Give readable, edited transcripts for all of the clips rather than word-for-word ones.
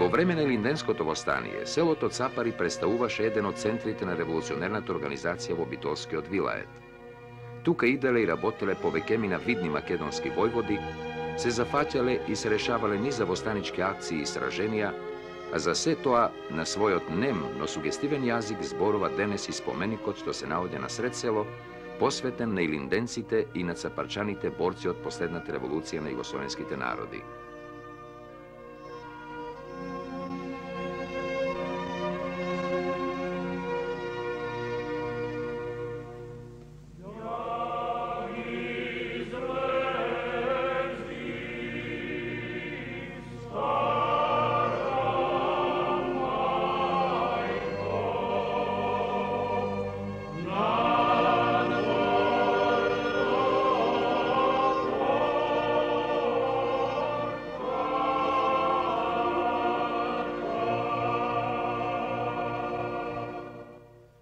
Во време на Илинденското востание, селото Цапари представуваше еден од центрите на револуционерната организација во Битолскиот вилает. Тука иделе и работеле повеќемина видни македонски војводи, се зафаќале и се решавале низа востанички акции и сраженија, а за се тоа на својот нем, но сугестивен јазик зборува денес и споменикот што се наоѓа на сред село, посветен на илинденците и на цапарчаните борци од последната револуција на југословенските народи.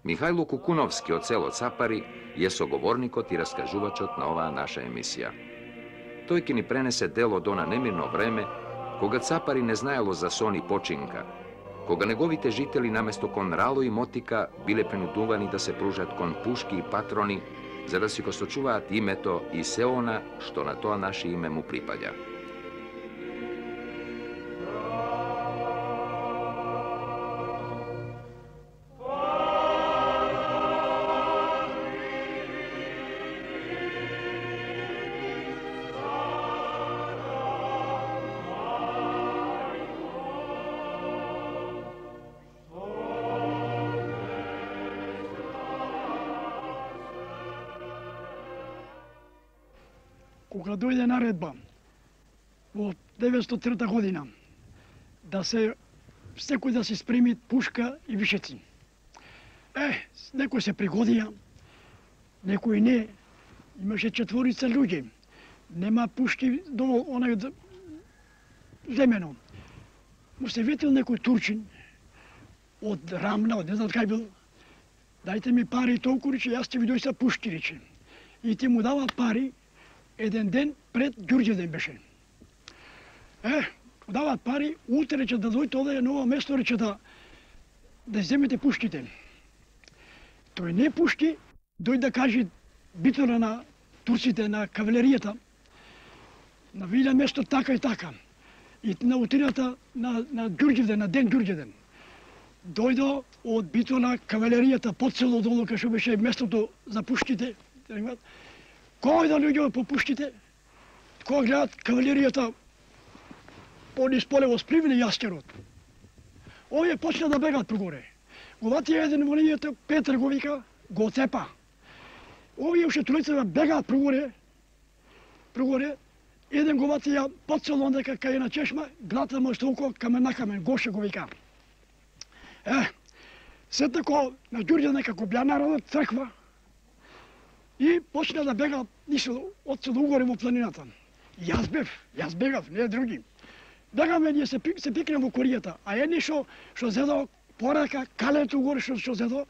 Михајло Кукуновски од село Цапари е соговорникот и раскажувачот на оваа наша емисија. Тој ќе ни пренесе дел од она немирно време, кога Цапари не знаело за сон и починка, кога неговите жители наместо кон рало и мотика биле принудувани да се пружат кон пушки и патрони, за да си го сочуваат името и се она што на тоа наше име му припаѓа. Кога дојде наредба во 903 година да се секој да се спреми пушка и вишеци. Некој се пригодија, некој не. Имаше 4 луѓе. Нема пушки до онај земено. Му се ветил некој турчин од Рамна, од не знам кај бил. Дајте ми пари толку, рече, јас ќе ви дојса пушки, рече. И ти му дават пари. Еден ден пред Ѓурѓевден беше. Дават пари, утре рече да дојдете овде на ова место, рече да земете пушките. Тој не пушки, дојде да каже битора на турците, на кавалеријата, на Вилја место така и така. И на утрината на Ѓурѓевден, на ден Ѓурѓевден. Дојде од битора кавалеријата под село долу, кај што беше местото за пушките. Кој да луѓе по пушките, кога гледат кавалеријата пониз поле во спливни јаскерот. Овие почна да бегат прогоре. Го вати еден во линијата, Петар го вика, го цепа. Овие уште тројца бегаат прогоре. Еден го вати ја под село ондека кај на чешма, глата му толку камен на камен, Гоше го вика. Се тако на Ѓурѓа некако бја народот црква. И почна да бега од село угоре во планината. Јас бегав, не други. Бегаме, ние се пикнем во коријата, а едни што зедо порака, калето угоре што зедо,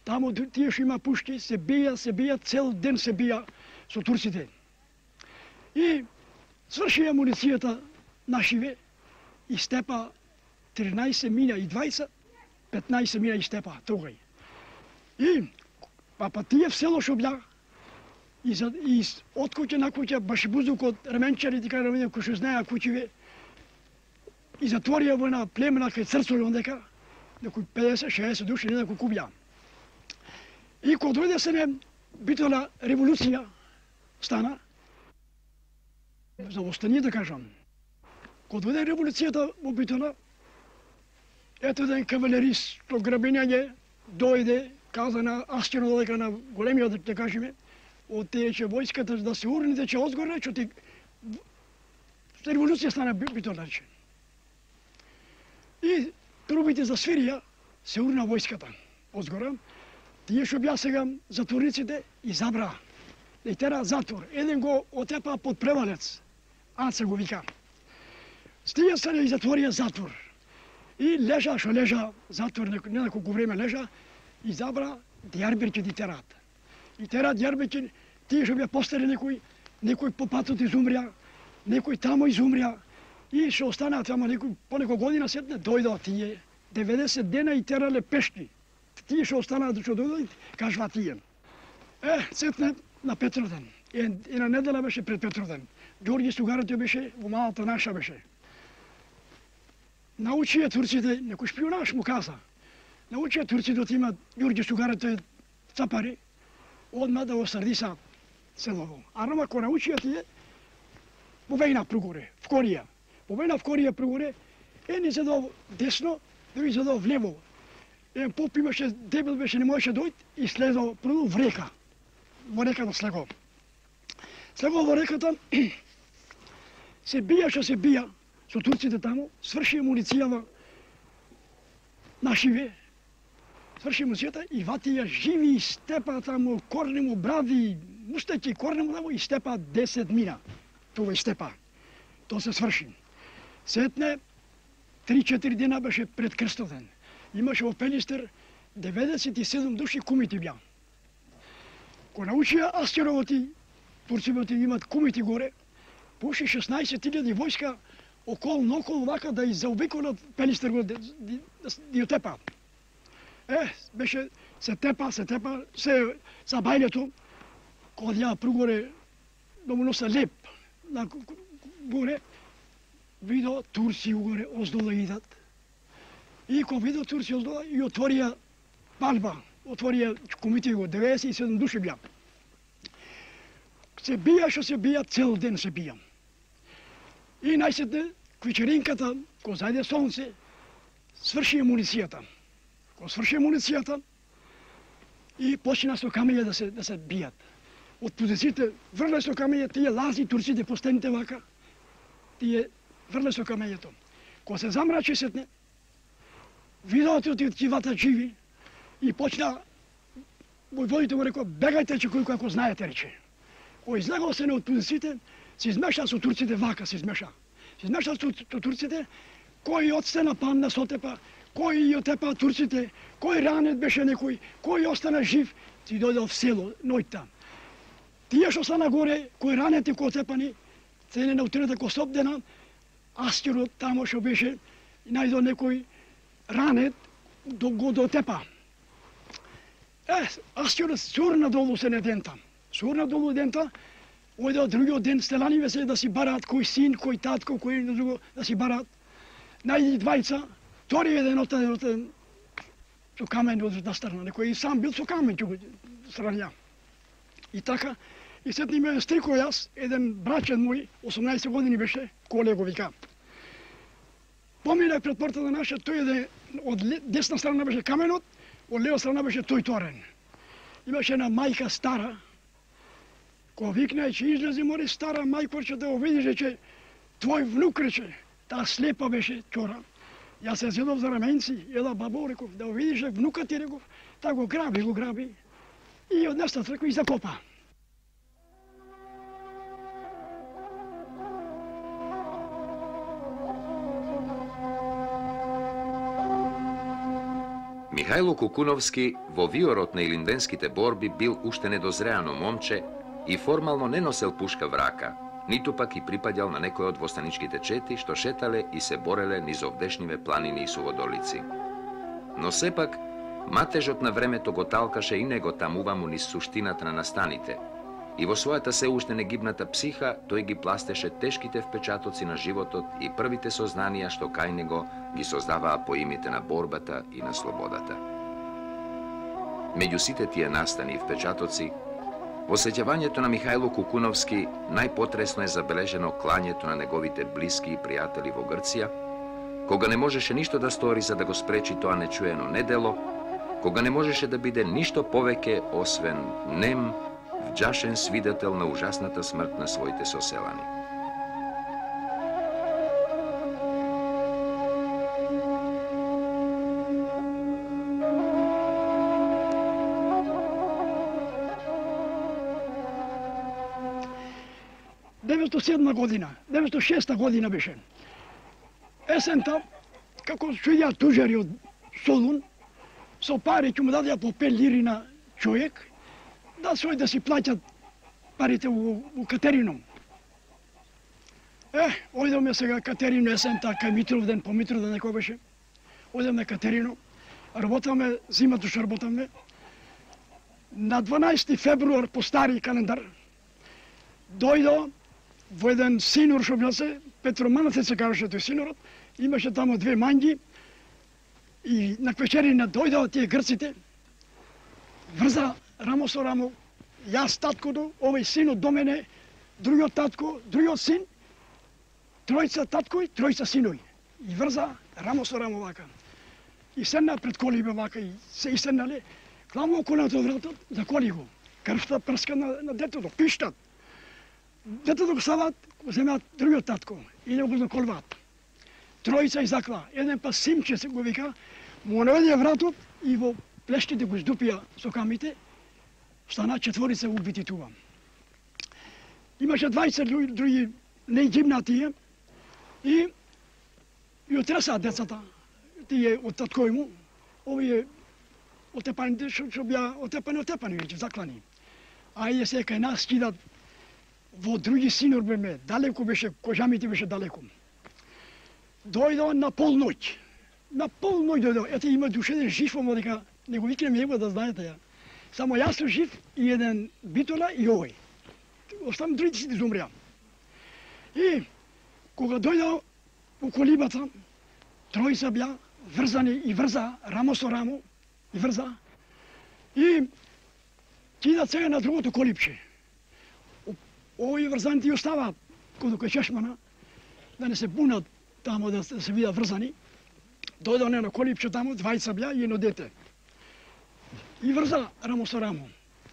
таму тие што има пушки, се бија, цел ден се бија со турците. И сврши амуницијата нашиве и степа 13 миња и 20, 15 миња и степа тогај. И па тие в село што бја, и од куќа на куќа, баш бузук од ременчари, дека рамене кои што знаеа куќиве, и затворија во една племена кај Црцови ондека, некои 50-60 души, не знам колку бја. И кога дојде се битола револуција стана, за востание да кажам, кога дојде револуцијата во Битола, ето еден кавалерист, што грабењање дојде, каза на Аскерот додека на големиот, да кажеме, од тече војската да се урни, да че озгоре, че ти револуција стана Битола, рече. И трубите за свирија се урна војската озгора. Тие што бја сега затворниците и забра. И тера затвор. Еден го отепа под превалец. Аца го вика. Стија се и затворија затвор. И лежа, што лежа затвор, не на колку време лежа, и забра Дијарбекир ги терат. И терат Дијарбекир, тие што бја постари некој по патот изумрја, некој тамо изумрја, И што останаат само по некој година сетне дојдоа тие 90 дена и терале пешки. Тие што останаат што дојдоа, кажува тие. Сетне на Петровден. И на недела беше пред Петровден. Ѓорѓи Сугаратио беше, во малата наша беше. Научија турците, некој шпионаж му каза. Научија турците да имат Ѓорѓи Сугаратио Цапари, одма да го срдиса селово. А рома ко научија тие, повејна прогоре, в Корија. Повејна в Корија прогоре, ни задо десно, други задо влево. Поп имаше, дебел беше, не можеше дојд и следо прво в река. Во реката слего. Слего во реката, се бија со турците таму, сврши амуницијава на живе, сврши амуницијата и ватија живи и степа таму, корне му брави, мустеки корне му таму и степа 10 мина. Това и степа. То се сврши. Сетне, 3-4 дена беше пред Крстовден. Имаше во Пелистер 97 души кумити бја. Ко научија Астеровоти, турцивоти имат кумити горе, пуши 16.000 војска околу вака да заобиколат Пелистер го да ја тепаат. Беше се тепа, се забајлето, кога ја прогоре, да му носа леп, на горе, видо турци угоре оздола идат. И кога видо турци оздола и отворија палба, отворија кумити го, 97 души бја. Се бија што се бија, цел ден се бија. И најсетне, вечеринката, кога зајде сонце, сврши амуницијата. Кога сврши амуницијата и почина со камења да се бијат. Од позициите врле со камење, тие лази турците по стените вака, тие врле со камењето. Кога се замрачи сетне, видоат од тивата живи и почна, војводите го рекоа, бегајте че кој како знаете, рече. Кој излегал се не од позициите, се измеша со турците вака, се измеша. Се измеша со турците, кој од стена падна сотепа, кој ја тепа турците, кој ранет беше некој, кој остана жив, си дојдел в село, ноќта. Тие што стана горе, кој ранети, кој тепани, цене на утрената ко Сопдена, Астерот тамо што беше, најдо некој ранет, го дотепа. Астерот сурна долу се недента. Сурна долу дента, ојде од другиот ден стеланиве се да си бараат кој син, кој татко, кој друго да си бараат. Најди двајца, втори еден отеден со камен од настрана, некој и сам бил со камен ќе го сранја. И така, и сетни ме стрико јас, еден брачен мој, 18 години беше, Коле го вика. Поминах пред портата наша, тој еден, од десна страна беше каменот, од лева страна беше тој торен. Имаше една мајка стара, кога викна, че излезе море стара мајко, да го видиш, че твој внук, рече, таа слепа беше чора. Јас се зедов за раменци, ела бабо, реков, да го видиш внукат ти, реков, та го граби. И однесна реков и закопа. Михајло Кукуновски во виорот на илинденските борби бил уште недозреано момче и формално не носел пушка в рака, ниту пак и припаѓал на некој од востаничките чети што шетале и се бореле низ овдешниве планини и суводолици. Но сепак, матежот на времето го талкаше и него тамуваму низ суштината на настаните, и во својата се уште негибната психа тој ги пластеше тешките впечатоци на животот и првите сознанија што кај него ги создаваа поимите на борбата и на слободата. Меѓу сите тие настани и впечатоци, во сеќавањето на Михајло Кукуновски најпотресно е забележено клањето на неговите блиски и пријатели во Грција, кога не можеше ништо да стори за да го спречи тоа нечуено недело, кога не можеше да биде ништо повеќе освен нем, вџашен свидетел на ужасната смрт на своите соселани. година, 906 година беше. Есента, како шуѓа тужари од Солун, со пари ќе му дадеа по 5 лири на човек, да свој да си плаќат парите у Катерином. Ојдеме сега Катерино есента, кај Митровден, по Митровден некој беше. Ојдеме Катерино, работаме, зимата што работаме. На 12 февруар по стари календар дојдо во еден синор што бил се, Петро Манатец се кажеше тој синорот, имаше тамо две манги и на вечерина дојдоа тие грците, врза рамо со рамо, јас таткото, овој синот до мене, другиот татко, другиот син, тројца таткови, тројца синови. И врза рамо со рамо вака. И седна пред колибе вака и се иседнале, главно коленото од вратот, заколи го. Крвта прска на детето, пиштат. Детето го стават, го земеат другиот татко и не го заколваат. Тројца изакла, еден па Симче се го вика, му наведе вратот и во плештите го издупија со камите, стана четворица убити тука. Имаше 20 други нејгибнати и отресаат децата, тие од таткови му, овие отепаните што беа отепани веќе, заклани. А и се кај нас кидат во други синор беме, далеко беше, Кожамите беше далеко. Дојдо на полноќ. На полноќ дојдо. Ете има душе еден жив, омо дека не го викнем его да знаете ја. Само јас сум жив и еден Битола и овој. Оставам другите си изумреа. И кога дојдо у колибата, тројца беа врзани и врза, рамо со рамо, и врза. И кидат сега на другото колипче. Овои врзаните и оставаат кај чешмана, да не се бунат тамо да се видат врзани. Дојдо на колипче тамо, двајца беа и едно дете. И врза рамо со рамо.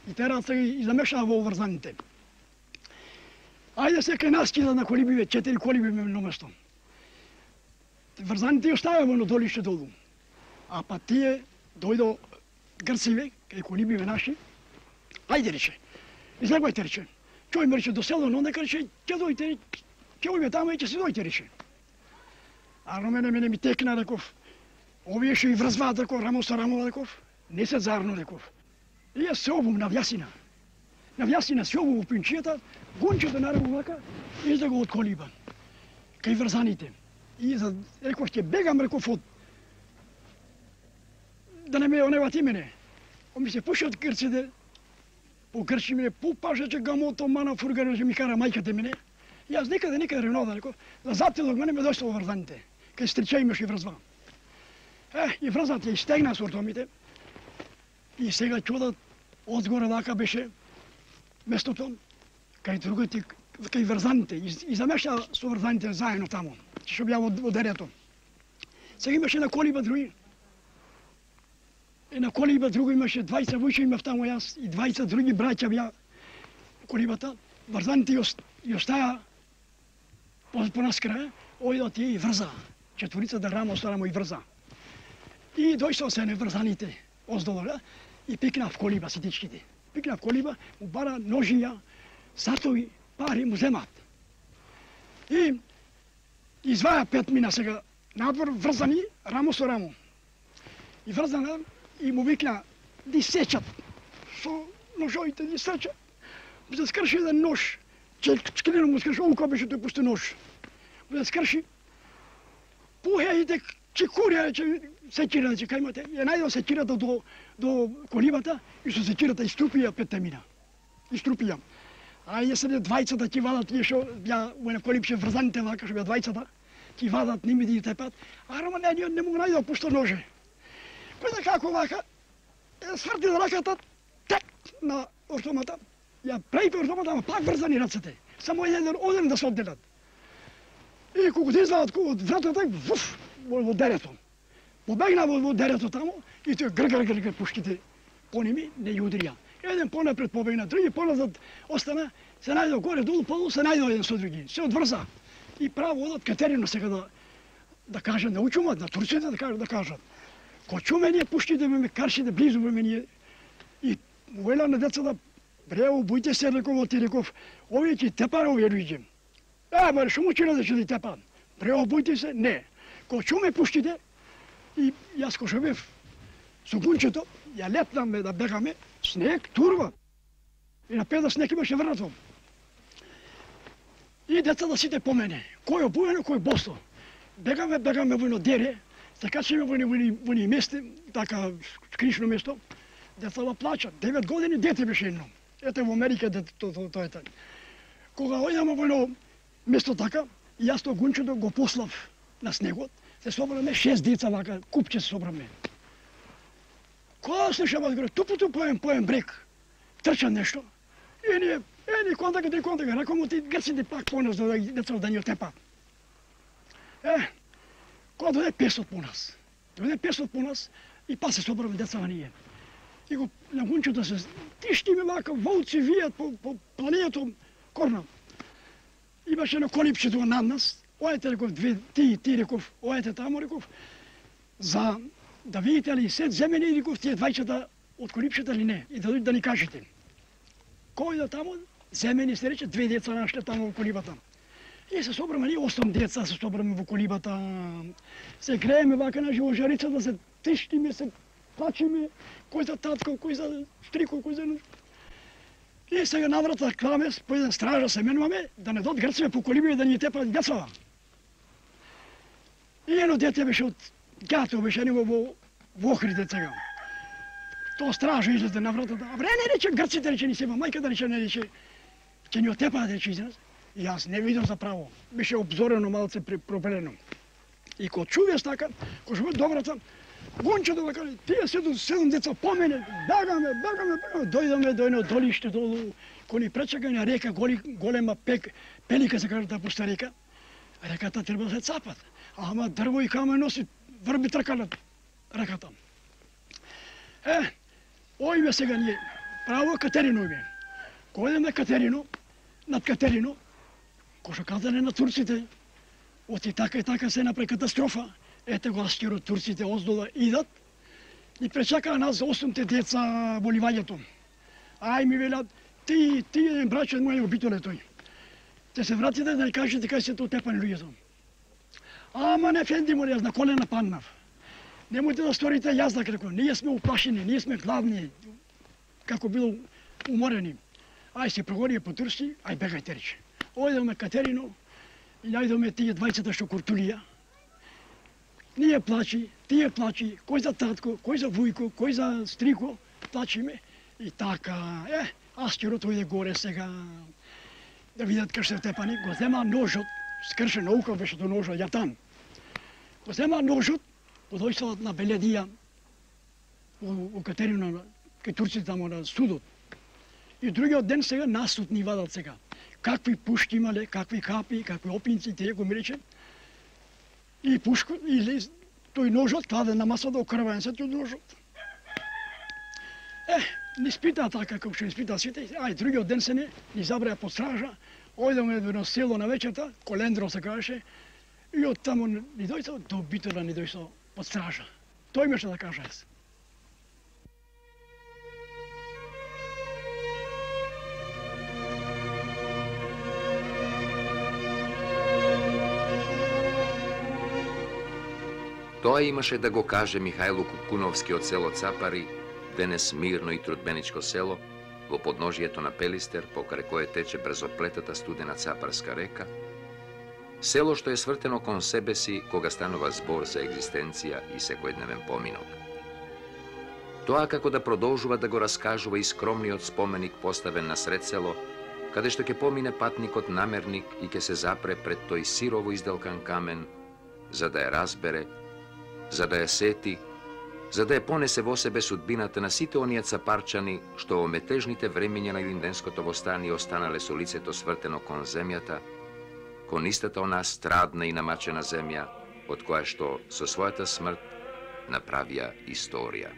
И тераат се и замешаа во врзаните. Ајде се кај нас кидат на колибиве, 4 колиби на место. Врзаните и оставаа во долище долу. А па тие дојдо грциве, кај колибиве наши. Ајде рече, излегувајте рече. Чој ме рече до село, но нека рече, ќе дојте, ќе ојме тамо и ќе се дојте рече. А на мене ми текна, реков, овие што и врзваат, реков, рамо со рамо, реков, не се зарно, реков. И јас се обум на вјасина. На вјасина се обум у пинчијата, гончето нараву вака, и да го од колиба. Кај врзаните. И реков, ќе бегам, реков, од... Да не ме оневати мене. Ми се пушат грците, по грчи мене, пупаше, че гамото, мана, фургара, че ми кара мајката мене. И јас некаде ревнода, реков, да затилог мене ме дошло во врзаните. Кај стрича имаше и врзва. И врзат ја истегна со ортомите. И сега чудат, одгоре вака беше местото, кај другите, кај врзаните. И замеша со врзаните заедно тамо, што беа во дерето. Сега имаше на колиба други. И на колиба друго имаше 20 вујче имав тамо јас и 20 други браќа беа колибата. Врзаните ја остаа по нас крај, ојдат тие и врза. Четворица да рамо со рамо и врза. И дојшо се неврзаните оздолу и пикна в колиба ситичките. Пикна в колиба, му бара ножија, сатови, пари му земат. И изваја 5 мина сега надвор врзани рамо со рамо. И врзана и му викна ди сечат со ножовите, ди сечат. Му се скрши еден нож, чкелено му скрши, ово кој беше тој пусти нож. Му се скрши, пухеите чекурија, секира, че кај имате. Ја најдо секирата до колибата и со секирата иструпија 5 мина. Иструпија. А ја се двајцата ќе вадат тие што беа во еден колипче врзаните вака што беа двајцата, ќе вадат ними да ги тепат. А Рома не му најдо пушто ноже. Кој како вака, сврти раката, тек на ортомата, ја прејпе ортомата, ама пак врзани рацете. Само оден да се одделат. И кога се извадат од вратата, вуф, во дерето. Побегна во дерето тамо и тој гр пушките по ними не ја удрија. Еден понапред побегна, други поназад остана, се најдо горе, долу, полу, се најдо еден со други. Се одврза. И право одат Катерино сега да кажат, да учумат, на турците да кажат. Ко чуме ние пушките ме каршите близу ме ние. И вела на децата, брево, бојте се, реков, овие ќе тепаат овие луѓе. Бе, шо му чина да ќе тепаат? Брево, бојте се, не. Ко чуме пушките, и јас ко шо бев со гунчето, ја летнаме да бегаме, снег, турва. И на педа снег имаше врнато. И И децата сите по мене. Кој обуено, кој босо. Бегаме во едно дере, се качиме во ни месте, така кришно место. Децата плачат. 9 години дете беше едно. Ете во Америка тоа е така. Кога ојдеме во едно место така, јас тоа гунчето го послав на снегот, се собраме 6 деца вака, купче се собраме. Кога слушаме горе, тупу поем брег, трча нешто, и ние, контакт, ракомо ти грците пак по нас, деца да ни отепат. Кога дојде 500 по нас, и па се собраме деца ние. И го на гунчето се тиштиме вака, волци вијат по планието Корна. Имаше едно колипче тука над нас, ојете реков, ти реков, ојете тамо реков, за да видите ли се земени реков тие двајчета од колипчета или не, и да ни кажете. Кој да тамо, земени се рече, 2 деца нашле тамо во колибата. И се собраме, ние 8 деца се собраме во колибата, се грееме вака на живожарицата, се тиштиме, се плачиме, кој за татко, кој за стрико, кој за... И сега наврата кламе, по еден стража се менуваме, да не дот грцеме по колиби и да ни тепат децава. И едно дете беше од Гјато, беше него во Охрид сега. Тоа стража излезе на вратата. А вре, не рече, грците рече, ни себа, мајка да рече, не рече, ќе ни отепаат, рече израз. И јас не видам за право. Беше обзорено малце пропелено. И кога чувес така, кога живеат добрата, гончето да каже, тие 7 деца по мене, бегаме, дојдаме до едно долиште, кој ни пречака на река, голема пелика се каже да пуста река. Реката треба да се цапат. Ама дрво и камен носи, врби тркалат реката. Оиме сега ние, право Катерино име. Кој идеме Катерино, над Катерино, кој што казале на турците, оти така и така се направи катастрофа. Ете го аскерот, турците оздола идат, и пречакаа нас за 8 деца во ливањето. Ај ми велат, ти брачот мој обителе тој. Те се вратите да ни кажете кај се тоа тепани луѓето. Ама не фенди моли, јас на колена паднав. Немојте да сторите јас да реков, ние сме уплашени, ние сме гладни, како било уморени. Ај се прогонија по турски, ај бегајте рече. Ојдеме Катерино, и најдеме тие двајцата што куртулија. Ние плачи, тие плачи, кој за татко, кој за вујко, кој за стрико, плачиме. И така, аскерот ојде горе сега, да видат кај се тепани, го зема ножот, скршен наука беше до ножот, јатан. Го зема ножот, го дојшла на Беледија, во Катерино, кај турците тамо на судот. И другиот ден сега насуд ни вадат сега. Какви пушки имале, какви капи, какви опинци, тие го ми рече. И пушко, и тој ножот кладе на масата, окрваен се тој ножот. Ни спита така, како што ни спита сите, ај, другиот ден се ни забреа под стража, ојдеме во едно село на вечерта, Колендро се кажеше, и од таму ни дојшо, до Битола ни дојшо под стража. Тој имаше да каже јас. Тоа имаше да го каже Михајло Кукуновски од село Цапари, денес мирно и трудбеничко село, во подножието на Пелистер, покрај кое тече брзоплетата студена Цапарска река, село што е свртено кон себе си кога станува збор за екзистенција и секојдневен поминок. Тоа како да продолжува да го раскажува и скромниот споменик поставен на сред село, каде што ќе помине патникот намерник и ќе се запре пред тој сирово изделкан камен, за да ја разбере, за да ја сети, за да ја понесе во себе судбината на сите оние цапарчани што во метежните времиња на Илинденското востание останале со лицето свртено кон земјата, кон истата онаа страдна и намачена земја, од која што со својата смрт направија историја.